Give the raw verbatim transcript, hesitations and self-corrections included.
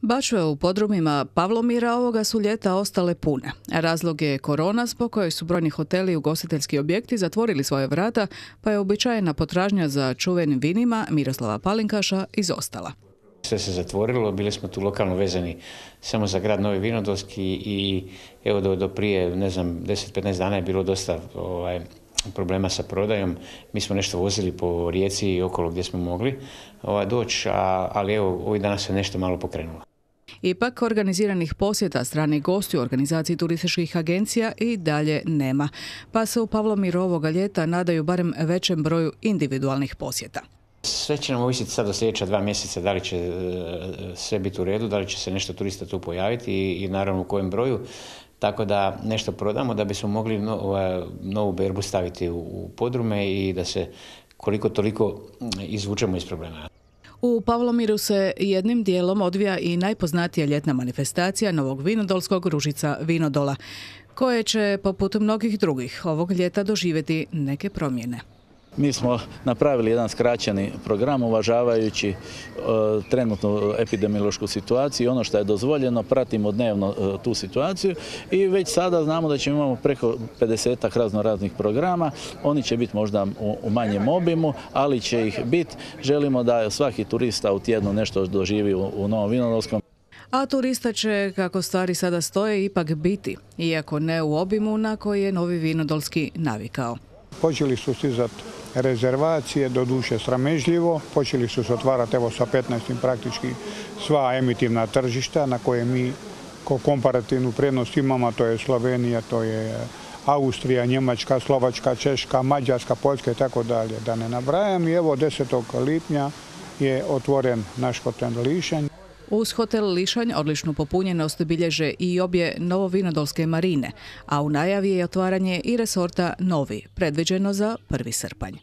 Bačve u podrumima Pavlomira ovoga su ljeta ostale pune. Razlog je korona, zbog koje su brojni hoteli i ugostiteljski objekti zatvorili svoje vrata, pa je uobičajena potražnja za čuvenim vinima Miroslava Palinkaša izostala. Sve se zatvorilo, bili smo tu lokalno vezani samo za grad Novi Vinodolski i evo do, do prije, ne znam, deset do petnaest dana je bilo dosta ovaj, problema sa prodajom. Mi smo nešto vozili po Rijeci i okolo gdje smo mogli ovaj, doći, a, ali evo ovih dana se nešto malo pokrenulo. Ipak organiziranih posjeta stranih gostiju u organizaciji turističkih agencija i dalje nema, pa se u Pavlomiru ovoga ljeta nadaju barem većem broju individualnih posjeta. Sve će nam ovisiti sad do sljedeća dva mjeseca da li će sve biti u redu, da li će se nešto turista tu pojaviti i, i naravno u kojem broju. Tako da nešto prodamo da bismo mogli no, ovaj, novu berbu staviti u, u podrume i da se koliko toliko izvučemo iz problema. U Pavlomiru se jednim dijelom odvija i najpoznatija ljetna manifestacija Novog Vinodolskog Ružica Vinodola, koje će, poput mnogih drugih, ovog ljeta doživjeti neke promjene. Mi smo napravili jedan skraćeni program uvažavajući e, trenutnu epidemiološku situaciju i ono što je dozvoljeno, pratimo dnevno e, tu situaciju i već sada znamo da ćemo imamo preko pedesetak razno raznih programa. Oni će biti možda u, u manjem obimu, ali će ih biti. Želimo da svaki turista u tjednu nešto doživi u, u Novom Vinodolskom. A turista će, kako stvari sada stoje, ipak biti, iako ne u obimu na koji je Novi Vinodolski navikao. Počeli su stizati rezervacije, doduše sramežljivo, počeli su se otvarati evo sa petnaestim praktički sva emitivna tržišta na koje mi ko komparativnu prednost imamo, to je Slovenija, to je Austrija, Njemačka, Slovačka, Češka, Mađarska, Poljska i tako dalje, da ne nabrajam. I evo desetog lipnja je otvoren naš hotel Lišanj. Uz hotel Lišanj odličnu popunjenost bilježe i obje novovinodolske marine, a u najavi je otvaranje i resorta Novi, predviđeno za prvi srpanj.